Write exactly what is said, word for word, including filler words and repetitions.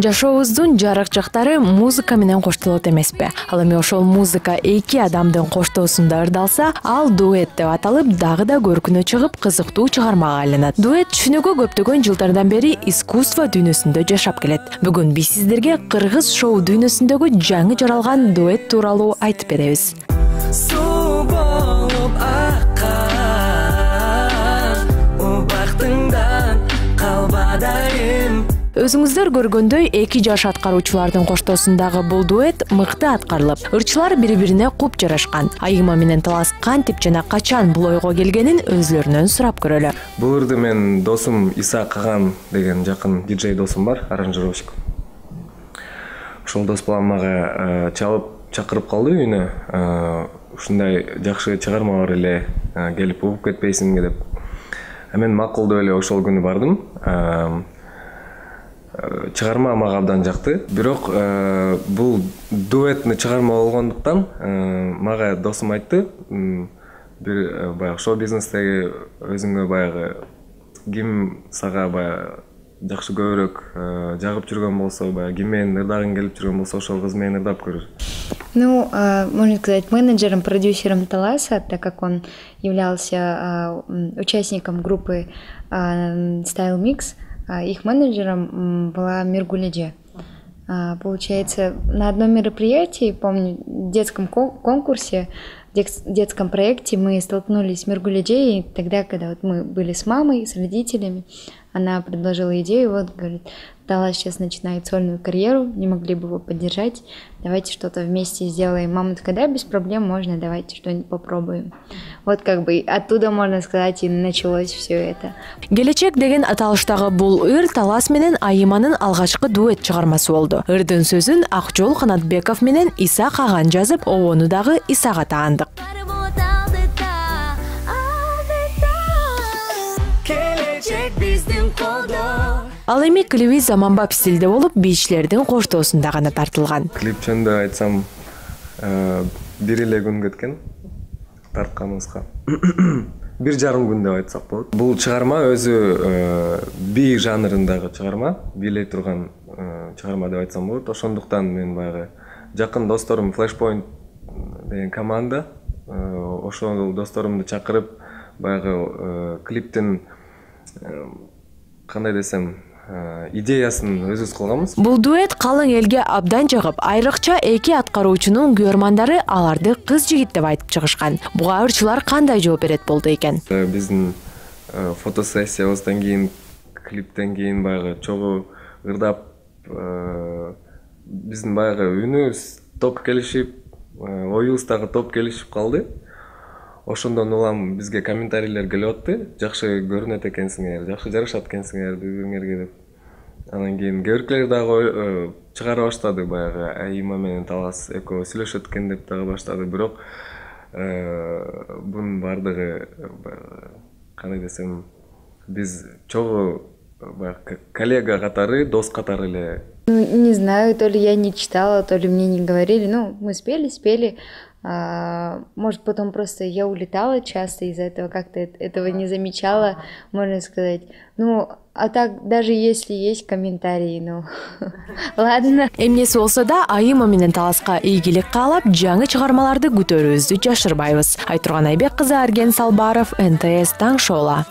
Жашообуздун жарык жактары музыка менен коштолот эмеспи? Ал эми ошол музыка эки адамдын коштоосунда ырдалса, ал дуэт деп аталып, дагы да көркүнө чыгып, кызыктуу чыгармага айланат. Дуэт түшүнүгү көптөгөн жылдардан бери искусство дүйнөсүндө жашап келет. Бүгүн биз сиздерге кыргыз шоу дүйнөсүндөгү жаңы жаралган дуэт тууралуу айтып беребиз. Өзүңүздөр көргөндөй эки жаш аткаруучулардын коштоосундагы бул дуэт мыкты аткарылып, ырчылар бири-бирине куп жарашкан. Айыма менен Талас кантип жана качан бул ойго келгенин өзлөрүнөн сурап көрөлү. Бул ырды мен досум Иса Каган деген жакын диджей досум бар, аранжировщик. Ошол дос балам мага чалып чакырып калды үйүнө. Ушундай жакшы чыгарма бар эле, келип угуп кетпейсиңби деп. Мен макул деп эле ошол күнү бардым. Чыгарма мага абдан жакты. Бирок бул дуэтный чыгарма болгондуктан мага досум айтты, бир баягы шоу бизнестеги өзүңө баягы ким сага баягы жакшы көбүрөөк жагып жүргөн болсо, баягы ким менен ырдагың келип жүргөн болсо, ошол кыз менен ырдап көрүр. Ну, можно сказать, менеджером, продюсером Таласа, так как он являлся участником группы Style Mix, их менеджером была Миргуледжи. Получается, на одном мероприятии, помню, в детском конкурсе, в детском проекте мы столкнулись с Миргуледжи, и тогда, когда вот мы были с мамой, с родителями, она предложила идею, вот, говорит, Талас сейчас начинает сольную карьеру, не могли бы его поддержать, давайте что-то вместе сделаем. Мама такая, да, без проблем, можно, давайте что-нибудь попробуем. Вот как бы оттуда, можно сказать, и началось все это. Келечек деген аталыштагы бул ыр Талас менен Айыманын алгачкы дуэт чыгармасы болду. Ырдын сөзүн Акжол Канатбеков менен Иса Каган жазып, обону дагы Исага таандык. Ал эми клиби заманбап стилде болуп, бийчилердин коштоосунда гана тартылган. Клип жөнүндө айтсам, бир эле күн кеткен тартканыбызга. Бир жарым күн деп айтсак болот. Бул чыгарма өзү би жанрындагы чыгарма, бийлей турган чыгарма деп айтсам болот. Ошондуктан мен баягы жакын досторум Flashpoint деген команда, ошол досторумду чакырып, баягы клиптин кандай десем, идеясын өзүбүз кылганбыз. Бул дуэт калың элге абдан жагып, айрыкча эки аткаруучунун көрмандары аларды кыз жигит деп айтып чыгышкан. Буга ырчылар кандай жооп берет болду экен? Биздин фотосессиябыздан кийин, клиптен кийин баягы чогуу ырдап, биздин баягы үнүбүз топ келишип, оюбуз дагы топ келишип калды. Ошондон улам бизге комментарийлер келип атты. Жакшы көрүнөт экенсиңер, жакшы жарашат экенсиңер бири-бириңерге деп. Анан кийин кээ дагы чыгара баштады, баягы Айыма менен Талас экөө сүйлөшөт экен деп дагы баштады. Бирок бунун бардыгы кандай десем, биз чогуу баягы коллега катары, дос катары эле. Ну, не знаю, то ли я не читала, то ли мне не говорили. Ну, мы спели, спели. А, может, потом просто я улетала часто из-за этого, как-то этого не замечала, можно сказать. Ну, а так, даже если есть комментарии, ну, ладно. Эмнеси болсо да, Айыма менен Таласка ийгилик каалап, жаңы чыгармаларды күтөрүүбүздү жашырбайбыз. Айтурган Айбек кызы, Арген Салбаров, эн тэ эс таң шоула.